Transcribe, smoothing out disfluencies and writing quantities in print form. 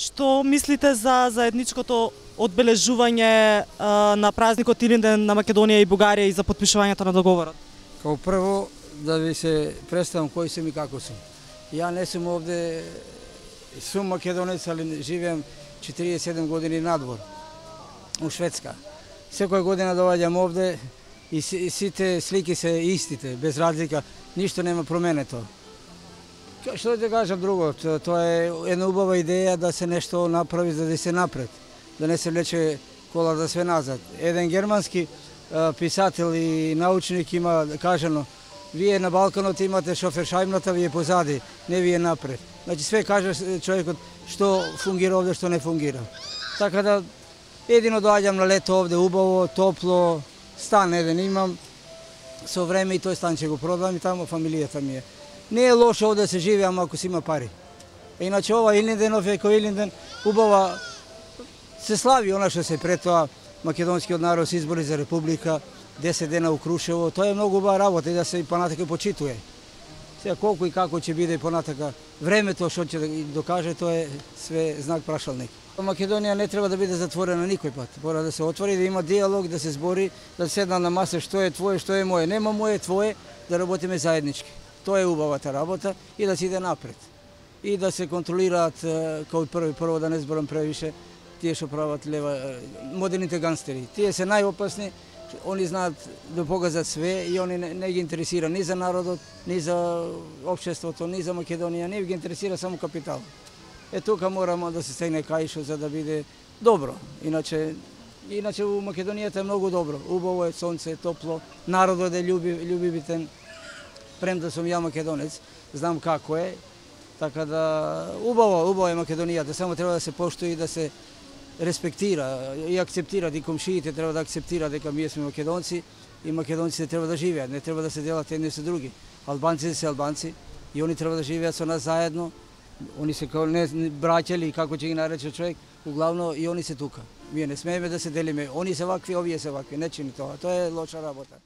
Што мислите за заедничкото одбележување на празникот Илинден на Македонија и Бугарија и за потпишувањето на договорот? Као прво, да ви се представам кој сум и како сум. Ја не сум овде, сум македонец, али живеам 47 години надвор, у Шведска. Секоја година доаѓам овде и сите слики се истите, без разлика, ништо нема променето. Што да кажам друго, тоа е една убава идеја да се нешто направи за да се напред, да не се влече колата све назад. Еден германски писател и научник има кажано: вие на Балканот имате шофершајмната, вие позади, не вие напред. Значи све каже човекот што фунгира овде, што не фунгира. Така да едино доаѓам на лето овде убаво, топло, стан еден имам, со време и тој стан ќе го продам и тамо фамилијата ми е. Не е лошо овде да се живее, ама ако си има пари. Иначе ова Илинденов е кој Илинден, убава се слави она што се пред тоа македонскиот народ се избори за република, 10 дена у Крушево, тоа е многу убава работа и да се и понатака почитува. Сега колку и како ќе биде и понатака времето што ќе докаже, тоа е све знак прашалник. Македонија не треба да биде затворена никој пат. Мора да се отвори, да има диалог, да се збори, да седна на маса што е твое, што е моје. Нема моје, твое, да работиме заеднички. Тоа е убавата работа и да се иде напред. И да се контролираат као прво да не зборам превише, тие што прават лева, модерните гангстери. Тие се најопасни, они знаат да погазат све и они не ги интересира ни за народот, ни за општеството, ни за Македонија, не ги интересира само капитал. Тука морамо да се стегне каишо за да биде добро. Иначе у Македонијата е многу добро. Убаво е, сонце, топло, народот е љубивитен. Премда сум ја македонец, знам како е. Така да убаво е Македонијата, само треба да се поштои и да се респектира и акцептира, и комшиите треба да акцептира дека ние сме македонци и македонците треба да живеат, не треба да се делат едни со други. Албанците се албанци и они треба да живеат со нас заедно. Они се као не браќали, како ќе ги нарече човек, углавно и они се тука. Ние не смееме да се делиме, они се вакви, овие се вакви, не чини тоа. Тоа е лоша работа.